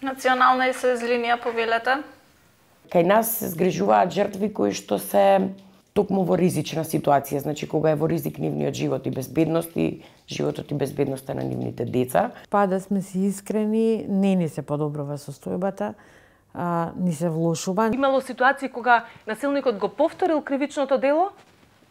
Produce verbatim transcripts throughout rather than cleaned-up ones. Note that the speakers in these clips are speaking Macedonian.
Национална и сојуз линија повелете? Кај нас се згрижуваат жртви кои што се токму во ризична ситуација, значи кога е во ризик нивниот живот и безбедност и животот и безбедноста на нивните деца. Па да сме си искрени, не ни се подобрува состојбата, а, ни се влошува. Имало ситуации кога насилникот го повторил кривичното дело,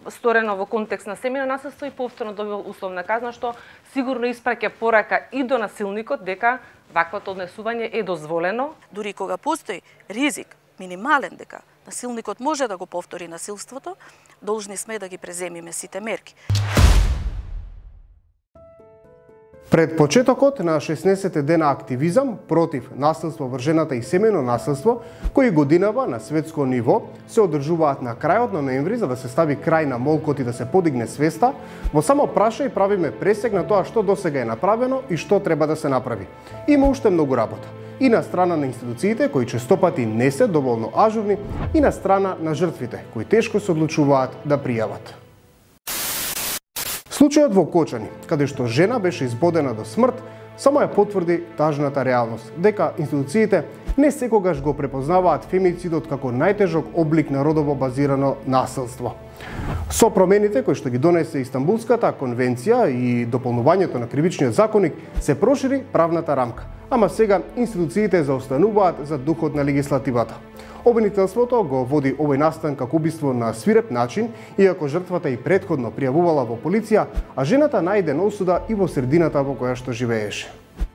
сторено во контекст на семејно насилство и повторно добил условна казна, што сигурно испраќа порака и до насилникот дека ваквото однесување е дозволено. Дури кога постои ризик минимален дека насилникот може да го повтори насилството, должни сме да ги преземиме сите мерки. Пред почетокот на шеснаесетте дена активизам против насилство врз жената и семејно насилство, кои годинава на светско ниво се одржуваат на крајот на ноември за да се стави крај на молкот и да се подигне свеста, во само прашај правиме пресек на тоа што досега е направено и што треба да се направи. Има уште многу работа. И на страна на институциите, кои честопати не се доволно ажурни, и на страна на жртвите, кои тешко се одлучуваат да пријават. Случајот во Кочани, каде што жена беше избодена до смрт, само ја потврди тажната реалност, дека институциите не секогаш го препознаваат фемицидот како најтежок облик на родово базирано насилство. Со промените кои што ги донесе Истанбулската конвенција и дополнувањето на кривичниот законник се прошири правната рамка, ама сега институциите заостануваат за духот на легислативата. Обвинителството го води овој настан како убиство на свиреп начин, иако жртвата и претходно пријавувала во полиција, а жената најден осуда и во средината во која што живееше.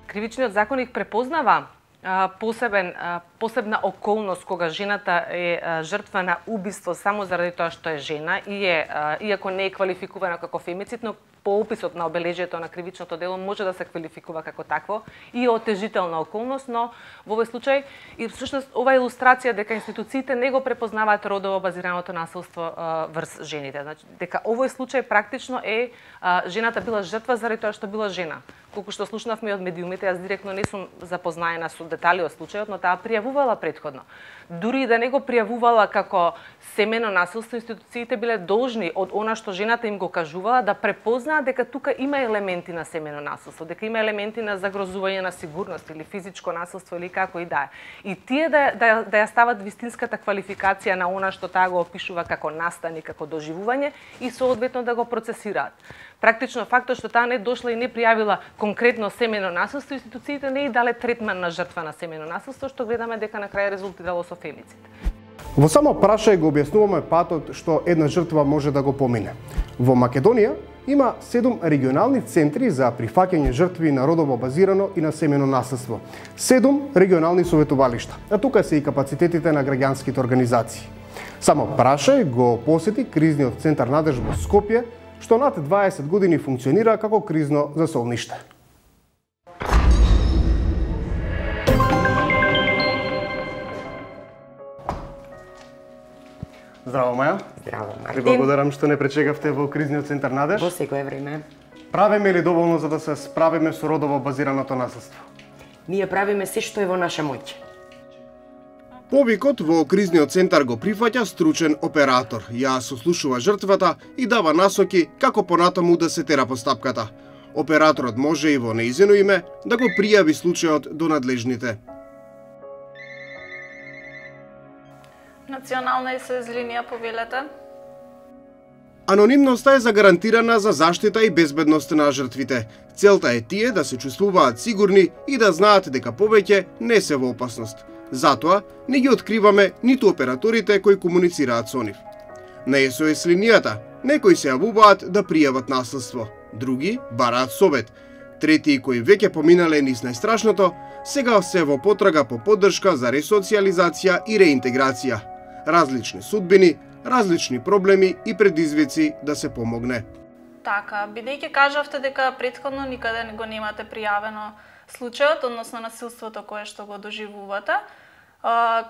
Кривичниот законник препознава а, посебен, а, посебна околност кога жената е а, жртва на убиство само заради тоа што е жена и е, а, иако не е квалификувана како фемицид, но по описот на обележието на кривичното дело може да се квалификува како такво и отежителна околност, но во овој случај и всушност ова илустрација дека институциите не го препознаваат родово базираното насилство а, врз жените. Значи дека овој случај практично е а, жената била жртва заради тоа што била жена. Колку што слушнавме од медиумите, јас директно не сум запознаена со детали од случајот, но таа пријавувала претходно. Дури да не го пријавувала како семејно насилство, институциите биле должни од она што жената им го кажувала да препознаат дека тука има елементи на семејно насилство, дека има елементи на загрозување на сигурност или физичко насилство или како и да е. И тие да, да, да ја стават вистинската квалификација на она што таа го опишува како настан и како доживување и соодветно да го процесираат. Практично фактот што таа не дошла и не пријавила конкретно семејно насилство, институциите не и дале третман на жртва на семејно насилство, што гледаме дека на крај резултирало со фемицид. Во само прашај го објаснуваме патот што една жртва може да го помине. Во Македонија има седум регионални центри за прифаќање жртви на родово базирано и на семејно насилство. Седум регионални советувалишта, а тука се и капацитетите на граѓанските организации. Само прашај го посети кризниот центар Надеж во Скопје, што над дваесет години функционира како кризно засолниште. Здраво, Маја. Здраво, Ви Мартин. благодарам што не пречекавте во кризниот центар Надеж. Во секое време. Правиме ли доволно за да се справиме со родово базираното насилство? Ние правиме се што е во наша моќ. Повикот во кризниот центар го прифаќа стручен оператор. Ја сослушува жртвата и дава насоки како понатаму да се тера постапката. Операторот може и во нејзино име да го пријави случајот до надлежните. Национална и сојуз линија повелете? Анонимноста е загарантирана за заштита и безбедност на жртвите. Целта е тие да се чувствуваат сигурни и да знаат дека повеќе не се во опасност. Затоа не ги откриваме ниту операторите кои комуницираат со нив. На ес о ес линијата некои се јавуваат да пријават насилство, други бараат совет, трети кои веќе поминале низ најстрашното, сега се во потрага по поддршка за ресоциализација и реинтеграција. Различни судбини, различни проблеми и предизвици да се помогне. Така, бидејќи кажавте дека претходно никаде го немате пријавено случајот, односно насилството кое што го доживувате,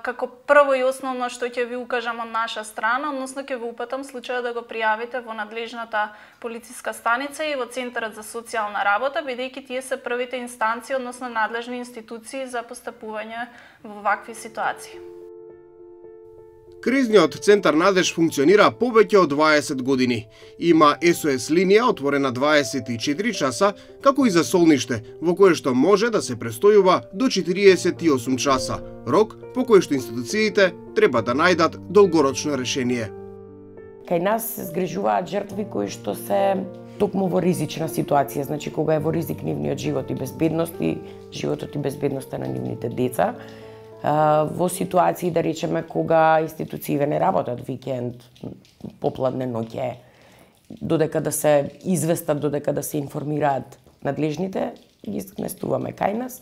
како прво и основно што ќе ви укажам од наша страна, односно ќе ви упатам случајот да го пријавите во надлежната полициска станица и во Центарот за социјална работа, бидејќи тие се првите инстанции, односно надлежни институции за постапување во вакви ситуации. Кризниот центар Надеж функционира повеќе од дваесет години. Има ес о ес линија отворена дваесет и четири часа, како и за солниште, во кое што може да се престојува до четириесет и осум часа, рок по кој што институциите треба да најдат долгорочно решение. Кај нас се згрижуваат жртви кои што се токму во ризична ситуација, значи кога е во ризик нивниот живот и безбедност и животот и безбедноста на нивните деца. Во ситуации, да речеме, кога институциите не работат викенд, попладне, ноќе, додека да се известат, додека да се информираат надлежните, ги сместуваме кај нас.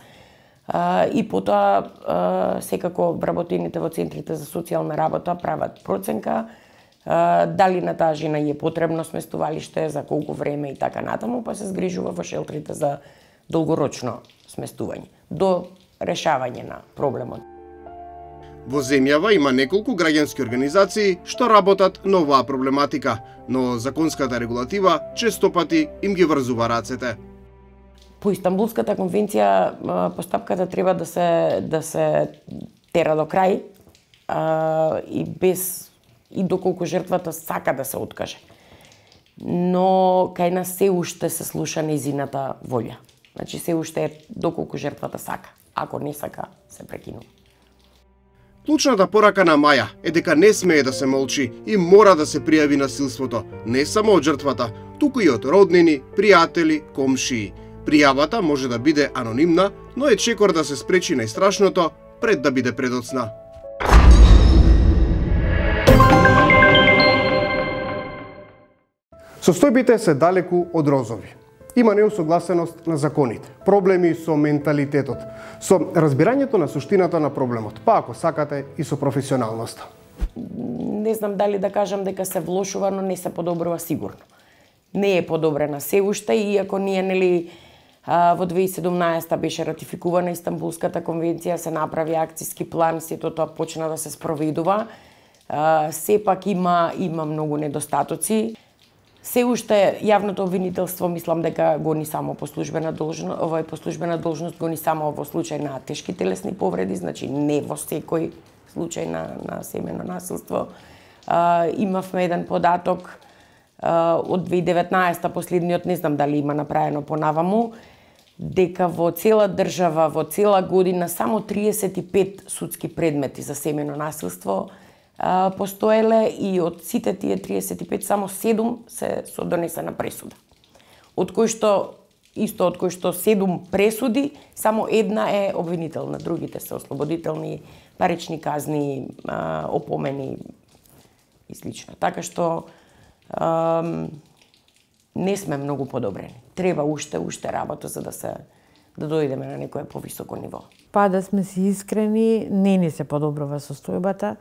И потоа, секако, вработените во центрите за социјална работа прават проценка, дали на таа жена е потребно сместувалиште, за колку време и така натаму, па се згрижува во шелтерите за долгорочно сместување, до решавање на проблемот. Во земјава има неколку граѓански организации што работат на оваа проблематика, но законската регулатива честопати им ги врзува рацете. По Истанбулската конвенција постапката треба да се да се тера до крај а, и без и доколку жртвата сака да се откаже. Но кај нас се уште се слуша нејзината волја. Значи се уште е доколку жртвата сака. Ако не сака, се прекинува. Клучната порака на Маја е дека не смее да се молчи и мора да се пријави насилството, не само од жртвата, туку и од роднини, пријатели, комшии. Пријавата може да биде анонимна, но е чекор да се спречи најстрашното пред да биде предоцна. Состојбите се далеку од розови. Има неусогласеност на законите, проблеми со менталитетот, со разбирањето на суштината на проблемот, па ако сакате и со професионалноста. Не знам дали да кажам дека се влошува, но не се подобрува сигурно. Не е подобрена се уште, иако ние, нели, во две тисячи и седумнаесета беше ратификувана Истанбулската конвенција, се направи акциски план, сето тоа почна да се спроведува. Сепак има има многу недостатоци. Се уште јавното обвинителство мислам дека го ни само по службена должност, овој по службена должност го ни само во случај на тешки телесни повреди, значи не во секој случај на на семејно насилство. А, имавме еден податок а, од две тисячи и деветнаесета, последниот, не знам дали има направено понаваму, дека во цела држава, во цела година само триесет и пет судски предмети за семејно насилство постоеле и од сите тие триесет и пет само седум се со донесена пресуда. Од кои што исто од кои што седум пресуди, само една е обвинителна, другите се ослободителни, парични казни, опомени и слично. Така што ам, не сме многу подобрени. Треба уште уште работа за да се да дојдеме на некое повисоко ниво. Па да сме си искрени, не ни се подобрува состојбата.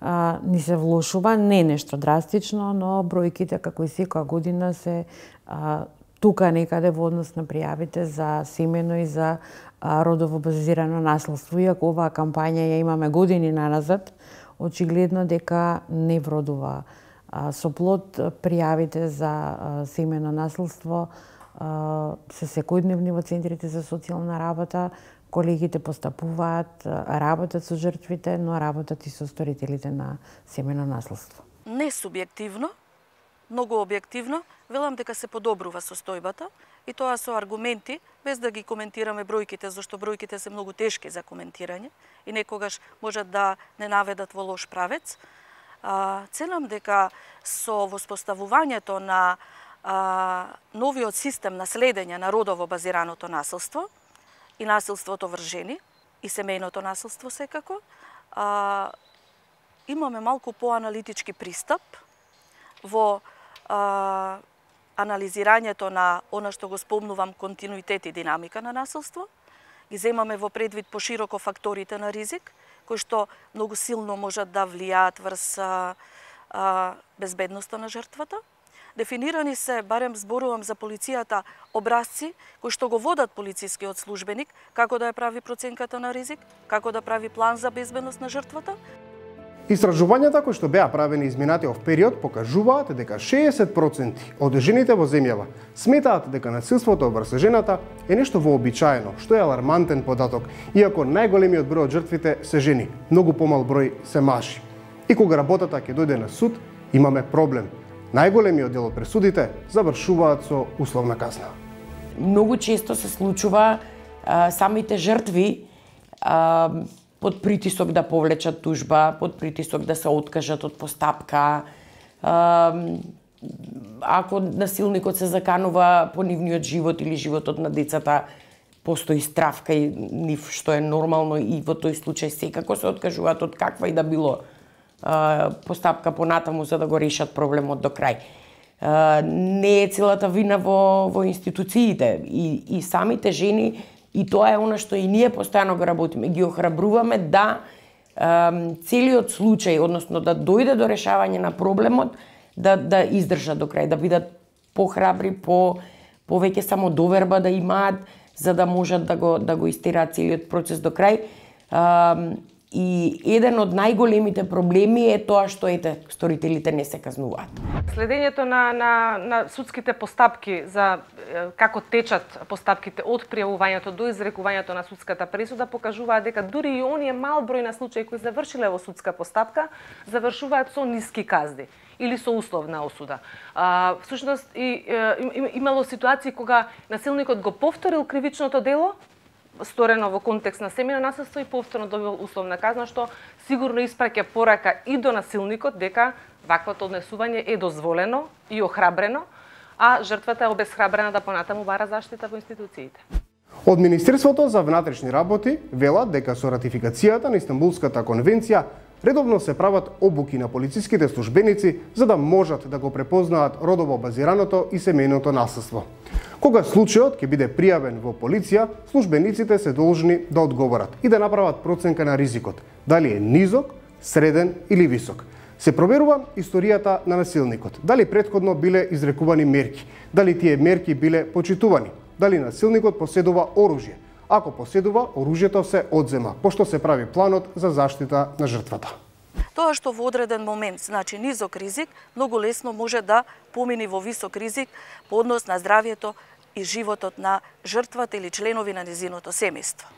А, ни се влошува, не нешто драстично, но бројките како и секоја година се а, тука некаде во однос на пријавите за семено и за а, родово базирано насилство. Иако оваа кампања ја имаме години наназад, очигледно дека не вродува а, со плод. Пријавите за а, семено насилство а, се секојдневни во центрите за социјална работа. Колегите постапуваат, работат со жртвите, но работат и со сторителите на семено насилство. Не субјективно, многу објективно, велам дека се подобрува состојбата и тоа со аргументи, без да ги коментираме бројките, зашто бројките се многу тешки за коментирање и некогаш можат да не наведат во лош правец. А, целам дека со воспоставувањето на а, новиот систем на следење на родово базираното насилство, и насилството врз жени, и семејното насилство секако, а, имаме малку поаналитички пристап во а, анализирањето на она што го спомнувам континуитет и динамика на насилство. Ги земаме во предвид пошироко факторите на ризик, кои што многу силно можат да влијаат врз а, а, безбедноста на жртвата. Дефинирани се, барем зборувам за полицијата, образци кои што го водат полицискиот службеник, како да ја прави проценката на ризик, како да прави план за безбедност на жртвата. Истражувањата кои што беа правени изминатиот период покажуваат дека шеесет проценти од жените во земјава сметаат дека насилството врз жената е нешто вообичаено, што е алармантен податок, иако најголемиот број од жртвите се жени, многу помал број се мажи. И кога работата ќе дојде на суд, имаме проблем. Најголемиот дел од пресудите завршуваат со условна казна. Многу често се случува а, самите жртви а, под притисок да повлечат тужба, под притисок да се откажат од постапка. А, ако насилникот се заканува по нивниот живот или животот на децата, постои страв кај нив, што е нормално, и во тој случај секако се откажуваат од каква и да било а, постапка понатаму за да го решат проблемот до крај. А, не е целата вина во, во институциите и, и самите жени, и тоа е она што и ние постојано го работиме, ги охрабруваме да а, целиот случај, односно да дојде до решавање на проблемот, да да издржат до крај, да бидат похрабри, по повеќе самодоверба да имаат, за да можат да го да го истераат целиот процес до крај. А, и еден од најголемите проблеми е тоа што ете сторителите не се казнуваат. Следењето на на на судските постапки за како течат постапките од пријавувањето до изрекувањето на судската пресуда покажуваат дека дури и оние мал број на случаи кои завршиле во судска постапка завршуваат со ниски казни или со условна осуда. А, всушност и, и имало ситуации кога насилникот го повторил кривичното дело, сторено во контекст на семејно насилство, и повторно добил условна казна, што сигурно испраќа порака и до насилникот дека ваквото однесување е дозволено и охрабрено, а жртвата е обесхрабрена да понатаму бара заштита во институциите. Од Министерството за внатрешни работи велат дека со ратификацијата на Истанбулската конвенција редовно се прават обуки на полициските службеници за да можат да го препознаат родово базираното и семејното насилство. Кога случајот ќе биде пријавен во полиција, службениците се должни да одговорат и да направат проценка на ризикот, дали е низок, среден или висок. Се проверува историјата на насилникот, дали претходно биле изрекувани мерки, дали тие мерки биле почитувани, дали насилникот поседува оружје. Ако поседува, оружјето се одзема, пошто се прави планот за заштита на жртвата. Тоа што во одреден момент значи низок ризик, многу лесно може да помини во висок ризик по однос на здравјето и животот на жртвата или членови на незиното семејство.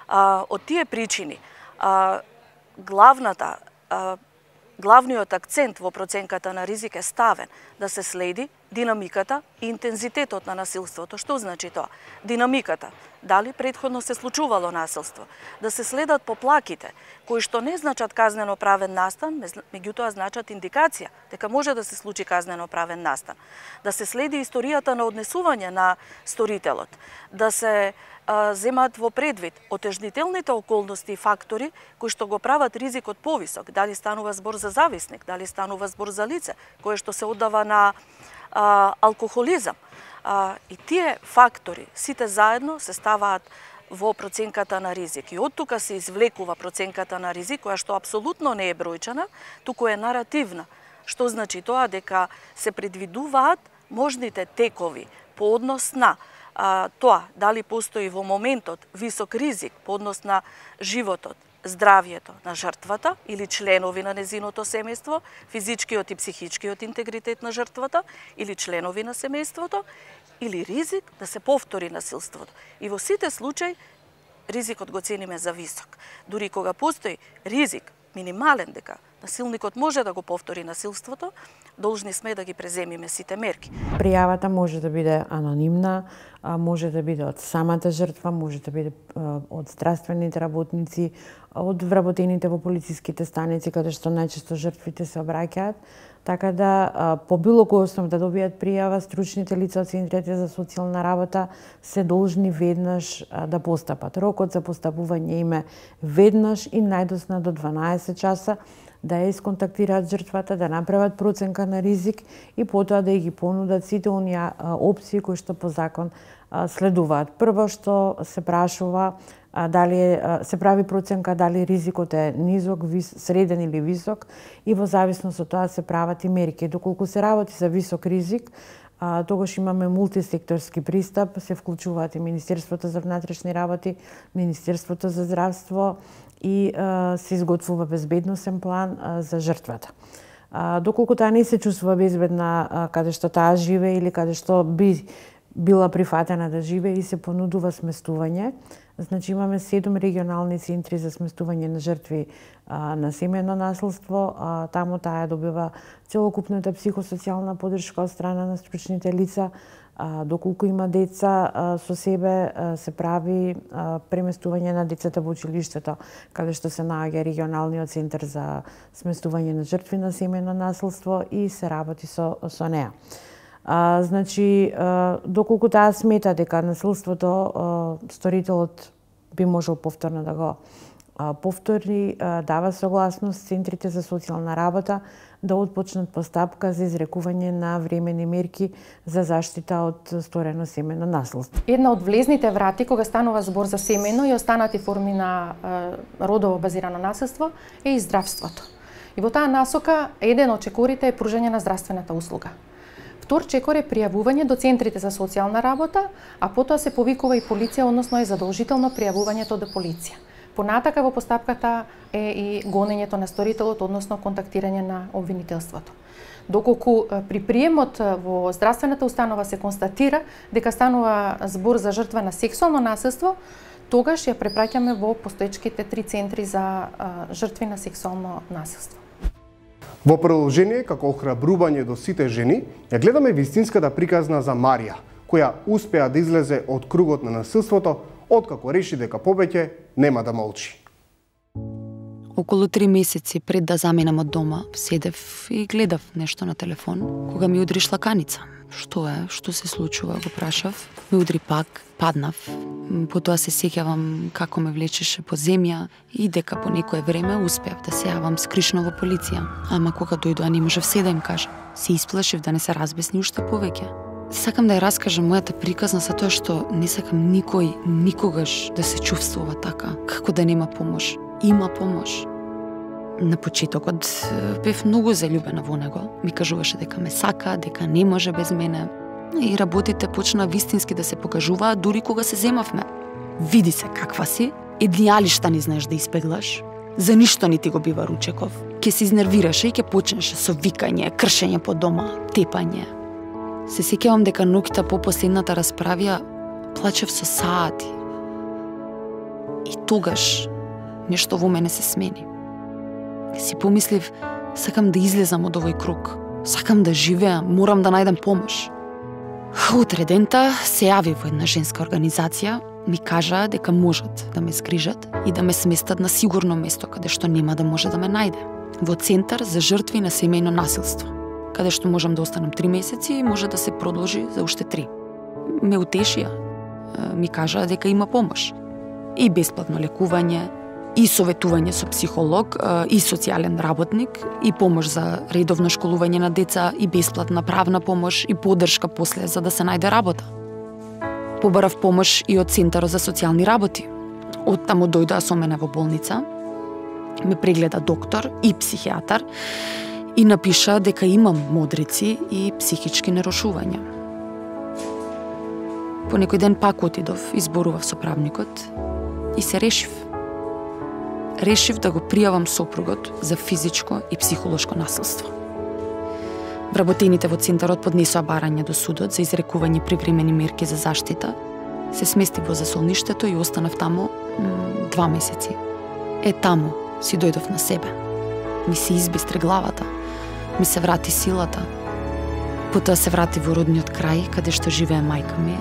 А, од тие причини, а, главната, а, главниот акцент во проценката на ризик е ставен да се следи динамиката и интензитетот на насилството. Што значи тоа? Динамиката. Дали претходно се случувало насилство? Да се следат поплаките, кои што не значат казнено правен настан, меѓутоа значат индикација дека може да се случи казнено правен настан. Да се следи историјата на однесување на сторителот. Да се а, земат во предвид отежнителните околности и фактори кои што го прават ризикот повисок. Дали станува збор за зависник, дали станува збор за лице кое што се оддава на а, алкохолизам. А, и тие фактори, сите заедно, се ставаат во проценката на ризик. И од тука се извлекува проценката на ризик, која што апсолутно не е бројчана, туку е наративна. Што значи тоа? Дека се предвидуваат можните текови по однос на а, тоа, дали постои во моментот висок ризик по однос на животот, здравјето на жртвата или членови на незиното семејство, физичкиот и психичкиот интегритет на жртвата или членови на семејството, или ризик да се повтори насилството. И во сите случаи ризикот го цениме за висок. Дури кога постои ризик минимален дека насилникот може да го повтори насилството, должни сме да ги преземиме сите мерки. Пријавата може да биде анонимна, може да биде од самата жртва, може да биде од здравствените работници, од вработените во полициските станици, каде што најчесто жртвите се обраќаат. Така да, по било кој основ да добијат пријава, стручните лица од центрите за социјална работа се должни веднаш да постапат. Рокот за постапување им е веднаш и најдосна до дванаесет часа, да ја исконтактираат жртвата, да направат проценка на ризик и потоа да ги понудат сите оние опции кои што по закон следуваат. Прво што се прашува дали се прави проценка дали ризикот е низок, среден или висок, и во зависност од тоа се прават и мерки. Доколку се работи за висок ризик, тогаш имаме мултисекторски пристап, се вклучуваат и Министерството за внатрешни работи, Министерството за здравство и се изготвува безбедносен план за жртвата. Доколку таа не се чувствува безбедна каде што таа живее или каде што би била прифатена да живее и се понудува сместување. Значи имаме седум регионални центри за сместување на жртви а, на семејно насилство. А, таму таа добива целокупната психосоцијална поддршка од страна на стручните лица. А, доколку има деца а, со себе, а, се прави а, преместување на децата во училиштето, каде што се наоѓа регионалниот центар за сместување на жртви на семејно насилство и се работи со, со неа. А, значи, а, доколку таа смета дека насилството а, сторителот би можел повторно да го а, повтори, а, дава согласност центрите за социјална работа да отпочнат постапка за изрекување на времени мерки за заштита од сторено семејно насилство. Една од влезните врати кога станува збор за семејно и останати форми на е, родово базирано насилство е и здравството. И во таа насока еден од чекорите е пружање на здравствената услуга. Втор чекор е пријавување до центрите за социјална работа, а потоа се повикува и полиција, односно е задолжително пријавувањето до полиција. Понатака во постапката е и гонењето на сторителот, односно контактирање на обвинителството. Доколку при приемот во здравствената установа се констатира дека станува збор за жртва на сексуално насилство, тогаш ја препраќаме во постоечките три центри за жртви на сексуално насилство. Во продолжение, како охрабрување до сите жени, ја гледаме вистинската приказна за Марија, која успеа да излезе од кругот на насилството, откако реши дека повеќе нема да молчи. Околу три месеци пред да заминам од дома, седев и гледав нешто на телефон, кога ми удри шлаканица. Што е? Што се случува? Го прашав. Ме удри пак, паднав. Потоа се сеќавам како ме влечеше по земја и дека по некое време успеав да се јавам скришно во полиција. Ама кога дојдоа не можев се да им кажам. Се исплашив да не се разбесни уште повеќе. Сакам да ја раскажам мојата приказна за тоа што не сакам никој никогаш да се чувствува така, како да нема помош. Има помош. На почетокот бев многу заљубена во него. Ми кажуваше дека ме сака, дека не може без мене. И работите почна вистински да се покажуваат дури кога се земавме. Види се каква си, едни алишта не знаеш да испеглаш. За ништо не ти го бива ручеков. Ке се изнервираше и ке почнеше со викање, кршење по дома, тепање. Се сеќавам дека ноќта по последната расправија плачев со саати. И тогаш нешто во мене се смени. Си помислив, сакам да излезам од овој круг. Сакам да живеам, морам да најдам помош. Утре дента се јави во една женска организација, ми кажа дека можат да ме згрижат и да ме сместат на сигурно место каде што нема да може да ме најде. Во центар за жртви на семејно насилство, каде што можам да останам три месеци и може да се продолжи за уште три. Ме утешија, ми кажа дека има помош. И бесплатно лекување, и советување со психолог, и социјален работник, и помош за редовно школување на деца, и бесплатна правна помош, и поддршка после за да се најде работа. Побарав помош и од Центарот за социјални работи. Од таму дојдоа со мене во болница, ме прегледа доктор и психијатар и напиша дека имам модрици и психички нарушувања. По некој ден пак отидов, изборував со правникот и се решив. Решив да го пријавам сопругот за физичко и психолошко насилство. Вработените во Центарот поднесоа барање до судот за изрекување привремени мерки за заштита. Се сместив во засолништето и останав таму два месеци. Е, таму си дојдов на себе. Ми се избистри главата. Ми се врати силата. Потоа се врати во родниот крај, каде што живее мајка ми.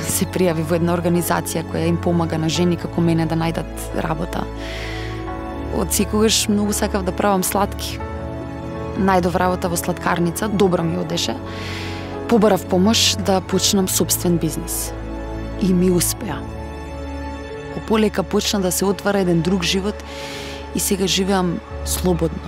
Се пријави во една организација која им помага на жени како мене да најдат работа. Од секогаш многу сакав да правам сладки. Најдов работа во сладкарница, добро ми одеше. Побарав помош да почнам собствен бизнис. И ми успеа. Полека почна да се отвара еден друг живот и сега живеам слободно.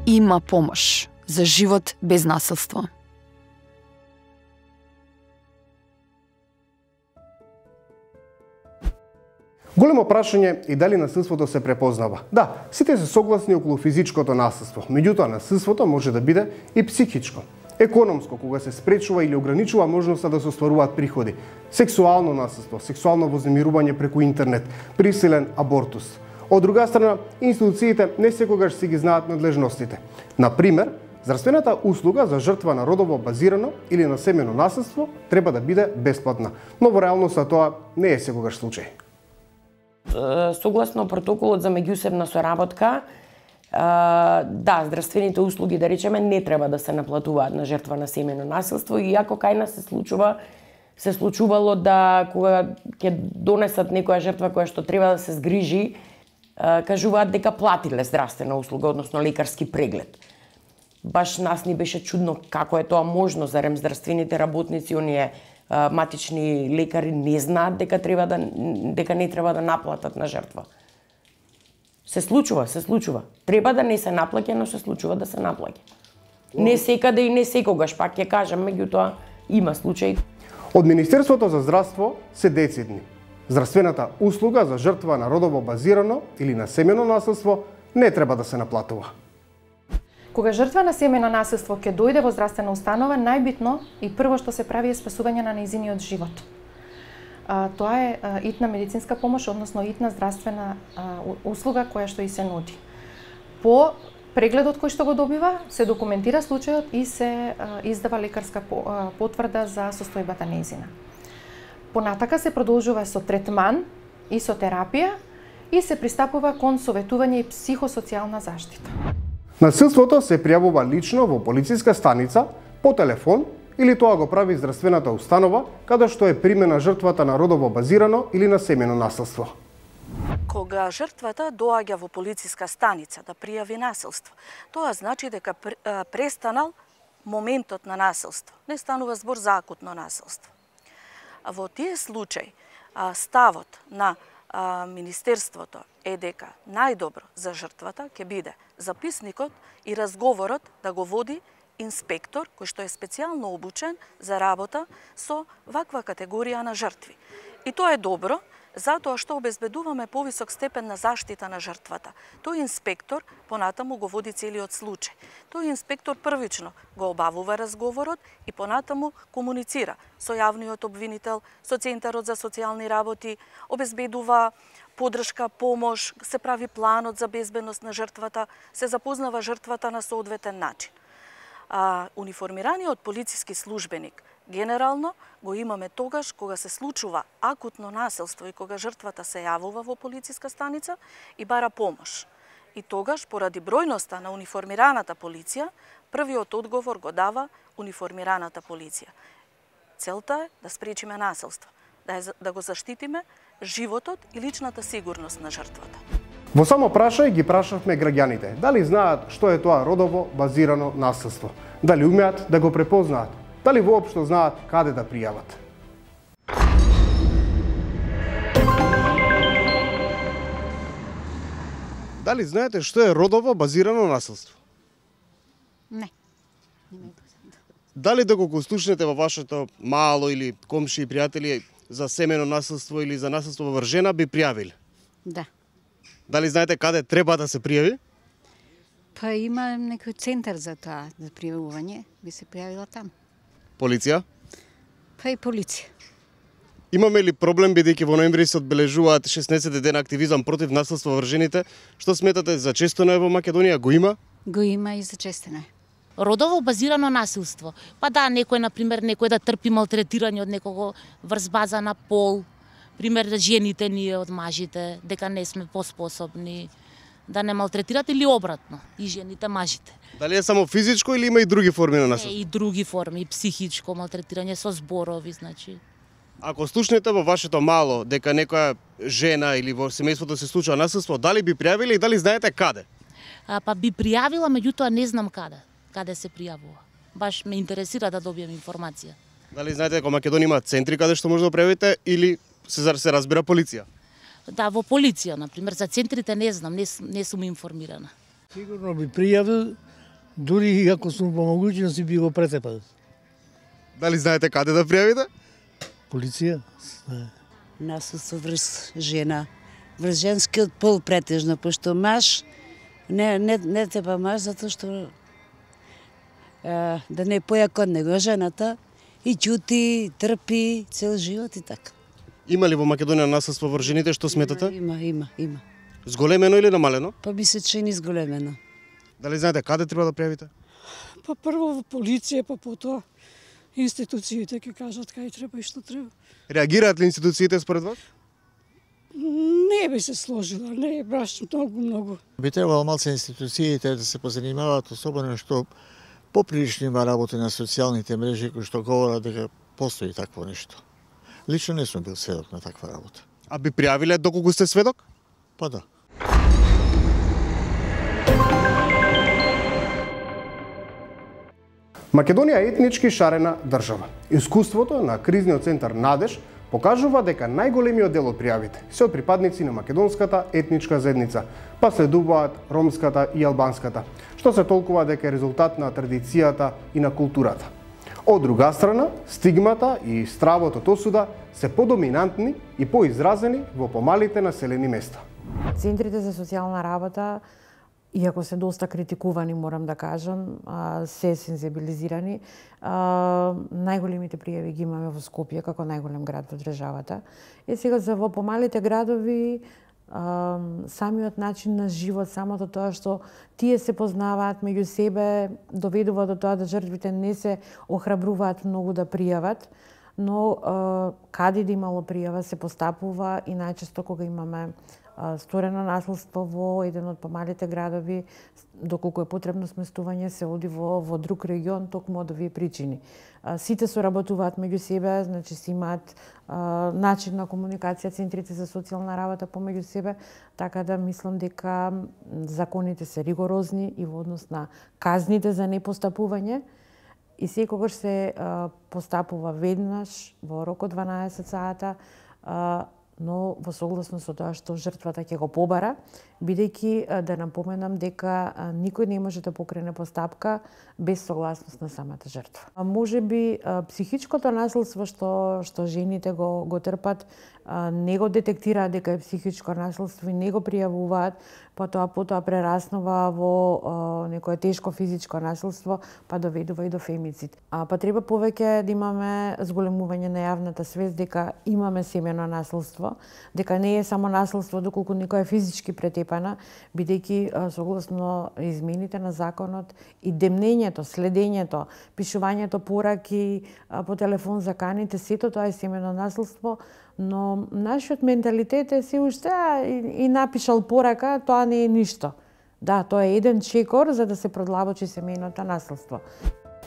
Има помош за живот без насилство. Големо прашање е дали насилството се препознава. Да, сите се согласни околу физичкото насилство, меѓутоа насилството може да биде и психичко. Економско, кога се спречува или ограничува можноста да се остваруваат приходи. Сексуално насилство, сексуално вознемирување преку интернет, присилен абортус. Од друга страна, институциите не секогаш си ги знаат надлежностите. Например, здравствената услуга за жртва на родово базирано или на семено насилство треба да биде бесплатна, но во реалноста тоа не е секогаш случај. Согласно протоколот за меѓусебна соработка, да, здравствените услуги, да речеме, не треба да се наплатуваат на жртва на семено насилство, иако кај нас се случува се случувало да кога ќе донесат некоја жртва која што треба да се згрижи, кажуваат дека платиле здравствена услуга, односно лекарски преглед. Баш нас ни беше чудно како е тоа можно, зарем здравствените работници, оние матични лекари не знаат дека треба да дека не треба да наплатат на жртва. Се случува, се случува. Треба да не се наплаќа, но се случува да се наплаќа. Не секаде и не секогаш, пак ќе кажам, меѓутоа има случаи. Од Министерството за здравство се децидни. Здравствената услуга за жртва на родово базирано или на семено насилство не треба да се наплатува. Кога жртва на семено насилство ќе дојде во здравствена установа, најбитно и прво што се прави е спасување на нејзиниот живот. А, тоа е а, итна медицинска помош, односно итна здравствена а, услуга која што и се нуди. По прегледот кој што го добива, се документира случајот и се а, издава лекарска по, а, потврда за состојбата нејзина. Понатака се продолжува со третман и со терапија и се пристапува кон советување и психосоцијална заштита. Насилството се пријавува лично во полициска станица, по телефон или тоа го прави здравствената установа каде што е примена жртвата на родово базирано или на семено насилство. Кога жртвата доаѓа во полициска станица да пријави насилство, тоа значи дека престанал моментот на насилство. Не станува збор за акутно насилство. А во тие случаи ставот на Министерството е дека најдобро за жртвата ќе биде записникот и разговорот да го води инспектор кој што е специјално обучен за работа со ваква категорија на жртви. И тоа е добро, затоа што обезбедуваме повисок степен на заштита на жртвата. Тој инспектор понатаму го води целиот случај. Тој инспектор првично го обавува разговорот и понатаму комуницира со јавниот обвинител, со Центарот за социјални работи, обезбедува подршка, помош, се прави планот за безбедност на жртвата, се запознава жртвата на соодветен начин. А униформираниот полициски службеник генерално го имаме тогаш кога се случува акутно насилство и кога жртвата се јавува во полициска станица и бара помош. И тогаш, поради бројноста на униформираната полиција, првиот одговор го дава униформираната полиција. Целта е да спречиме насилство, да, е, да го заштитиме животот и личната сигурност на жртвата. Во само прашај ги прашавме граѓаните дали знаат што е тоа родово базирано насилство, дали умеат да го препознаат, дали воопшто знаат каде да пријават. Дали знаете што е родово базирано насилство? Не. Дали доколку слушнете во вашето мало или комши и пријатели за семено насилство или за насилство во жена би пријавиле? Да. Дали знаете каде треба да се пријави? Па има некој центар за тоа, за пријавување, би се пријавила там. Полиција? Па и полиција. Имаме ли проблем бидејќи во ноември се одбележуваат шеснаесет дена активизам против насилство во жените? Што сметате за честено е во Македонија? Го има? Го има и за честено е. Родово базирано насилство. Па да, некој, например, некој да трпи малтретирање од некого врз база на пол, пример да жените ние од мажите, дека не сме поспособни да не малтретират или обратно, и жените мажите. Дали е само физичко или има и други форми на насилство? Е, и други форми, и психичко малтретирање со зборови, значи. Ако слушнете во вашето мало дека некоја жена или во семејството се случува насилство, дали би пријавиле и дали знаете каде? А, па би пријавила, меѓутоа не знам каде, каде се пријавува. Баш ме интересира да добијам информација. Дали знаете дека Македонија има центри каде што може да пријавите или се се разбира полиција? Да, во полиција, например, за центрите не знам, не, не сум информирана. Сигурно би пријавил, дури и ако сум по могуćности би го претепал. Дали знаете каде да пријавите? Полиција. Насилство врз жена, врз женскиот пол претежно, пошто маж не не не тепа маж затоа што да не е појако од него жената и ќути, трпи цел живот и така. Има ли во Македонија насилство врз жените, што сметате? Има, има, има. Зголемено или намалено? Па ми се чини зголемено. Дали знаете каде треба да пријавите? Па прво во полиција, па потоа институциите ќе кажат кај треба и што треба. Реагираат ли институциите според вас? Не би се сложила, не, баш многу, многу. Би требало малце институциите да се позанимаваат, особено што поприлично има работа на социјалните мрежи кои што говорат дека постои такво нешто. Лично не сум бил сведок на таква работа. А би пријавиле доколку сте сведок? Па да. Македонија е етнички шарена држава. Искуството на кризниот центар Надеж покажува дека најголемиот дел од пријавите се од припадници на македонската етничка заедница, па следуваат ромската и албанската, што се толкува дека е резултат на традицијата и на културата. Од друга страна, стигмата и стравот од осуда се подоминантни и поизразени во помалите населени места. Центрите за социјална работа, иако се доста критикувани, морам да кажам, се сензибилизирани. Најголемите пријави ги имаме во Скопје, како најголем град во државата. И сега за во помалите градови, самиот начин на живот, самото тоа што тие се познаваат меѓу себе, доведува до тоа да жртвите не се охрабруваат многу да пријават, но каде да имало пријава се постапува и најчесто кога имаме сторено насилство во еден од помалите градови, доколку е потребно сместување, се оди во, во друг регион, токму од овие причини. Сите соработуваат меѓу себе, значи си имаат а, начин на комуникација, центрите за социјална работа помеѓу себе, така да мислам дека законите се ригорозни и во однос на казните за непостапување, и секогаш се а, постапува веднаш во рок од дванаесет сата, а, но во согласно со тоа што жртвата ќе го побара, бидејќи да напоменам дека никој не може да покрене постапка без согласност на самата жртва. Може би психичкото насилство што што жените го го трпат, не го детектираат дека е психичко насилство и не го пријавуваат, потоа потоа прераснува во некое тешко физичко насилство, па доведува и до фемицид. А па треба повеќе да имаме зголемување на јавната свест дека имаме семено насилство, дека не е само насилство доколку некој е физички претепана, бидејќи согласно измените на законот и демнењето, следењето, пишувањето пораки по телефон за каните, сето тоа е семено насилство, но нашиот менталитет е се уште и, и напишал порака, тоа не е ништо. Да, тоа е еден чекор за да се продлабочи семејното насилство.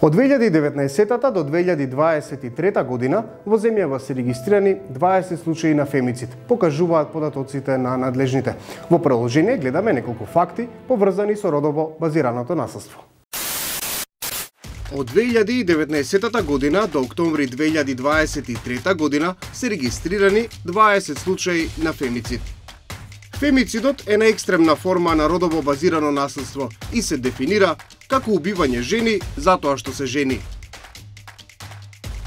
Од две илјади и деветнаесетта до две илјади дваесет и трета година во земјава се регистрирани дваесет случаи на фемицид, покажуваат податоците на надлежните. Во приложение гледаме неколку факти поврзани со родово базираното насилство. Од две илјади и деветнаесетта година до октомври две илјади дваесет и трета година се регистрирани дваесет случаи на фемицид. Фемицидот е најекстремна форма на родово базирано насилство и се дефинира како убивање жени затоа што се жени.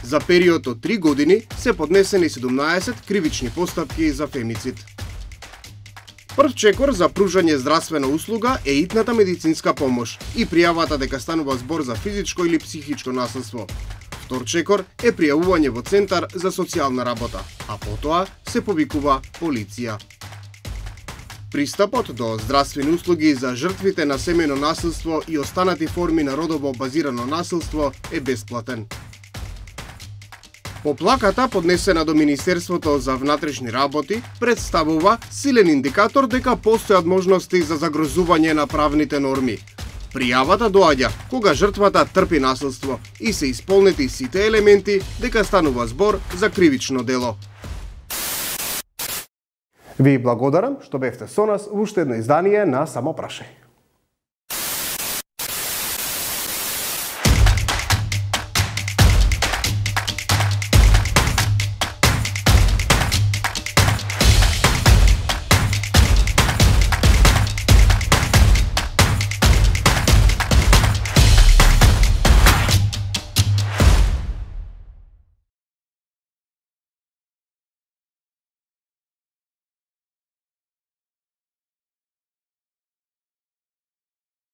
За период од три години се поднесени седумнаесет кривични постапки за фемицид. Прв чекор за пружање здравствена услуга е итната медицинска помош и пријавата дека станува збор за физичко или психичко насилство. Втор чекор е пријавување во центар за социјална работа, а потоа се повикува полиција. Пристапот до здравствени услуги за жртвите на семејно насилство и останати форми на родово базирано насилство е бесплатен. Поплаката, поднесена до Министерството за внатрешни работи, представува силен индикатор дека постојат можности за загрозување на правните норми. Пријавата доаѓа кога жртвата трпи насилство и се исполнети сите елементи дека станува збор за кривично дело. Ви благодарам што бевте со нас во уште едно издание на Само прашај.